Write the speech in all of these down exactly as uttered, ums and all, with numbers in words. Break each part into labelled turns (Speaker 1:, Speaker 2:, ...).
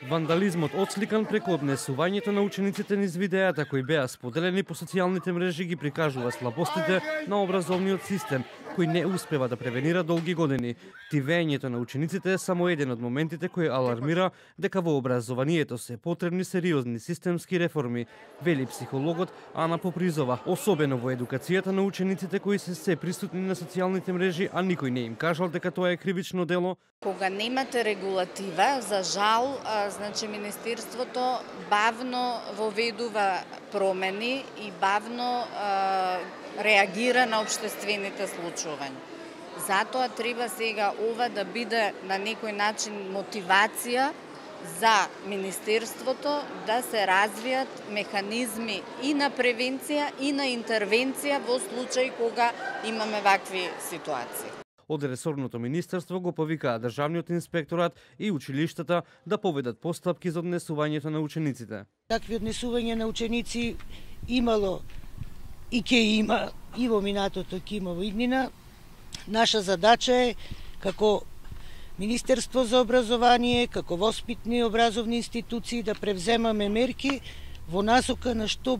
Speaker 1: Вандализмот отсликан преку однесувањето на учениците низ видеата кои беа споделени по социјалните мрежи ги прикажува слабостите на образовниот систем, кој не успева да превенира долги години. Тивењето на учениците е само еден од моментите кој алармира дека во образованието се потребни сериозни системски реформи, вели психологот Ана Попризова, особено во едукацијата на учениците кои се се присутни на социјалните мрежи, а никој не им кажал дека тоа е кривично дело.
Speaker 2: Кога немате регулатива, за жал, значи Министерството бавно воведува промени и бавно а, реагира на општествените случувања. Затоа треба сега ова да биде на некој начин мотивација за Министерството да се развијат механизми и на превенција и на интервенција во случај кога имаме вакви ситуации.
Speaker 1: Од ресорното министерство го повикаа државниот инспекторат и училиштата да поведат постапки за однесувањето на учениците.
Speaker 3: Такви однесувања на ученици имало и ќе има и во минатото, ќе има во иднина. Наша задача е како Министерство за образование, како воспитни и образовни институции да превземаме мерки во насока на што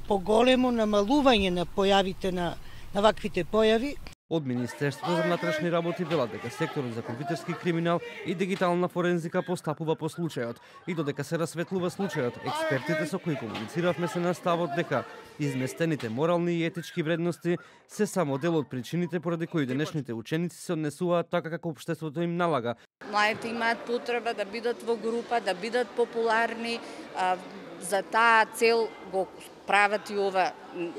Speaker 3: поголемо намалување на појавите на, на ваквите појави.
Speaker 1: Од Министерството за внатрешни работи велат дека секторот за компјутерски криминал и дигитална форензика постапува по случајот и додека се расветлува случајот, експертите со кои комунициравме се на ставот дека изместените морални и етички вредности се само дел од причините поради кои денешните ученици се однесуваат така како општеството им налага.
Speaker 2: Младите имаат потреба да бидат во група, да бидат популарни, а, за таа цел го прават и ова,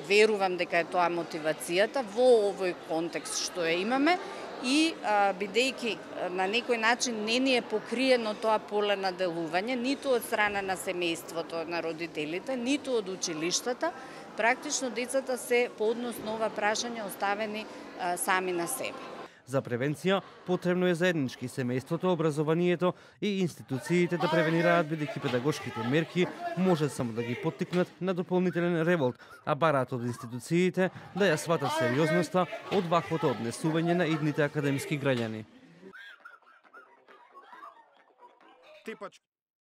Speaker 2: верувам дека е тоа мотивацијата во овој контекст што ја имаме и а, бидејќи на некој начин не ни е покриено тоа поле на делување, ниту од страна на семејството, на родителите, ниту од училиштата, практично децата се по однос на ова прашање оставени а, сами на себе.
Speaker 1: За превенција потребно е заеднички семејството, образованието и институциите да превенираат, бидејќи педагошките мерки може само да ги поттикнат на дополнителен револт, а бараат од институциите да ја сватат сериозноста од ваквото однесување на идните академски граѓани.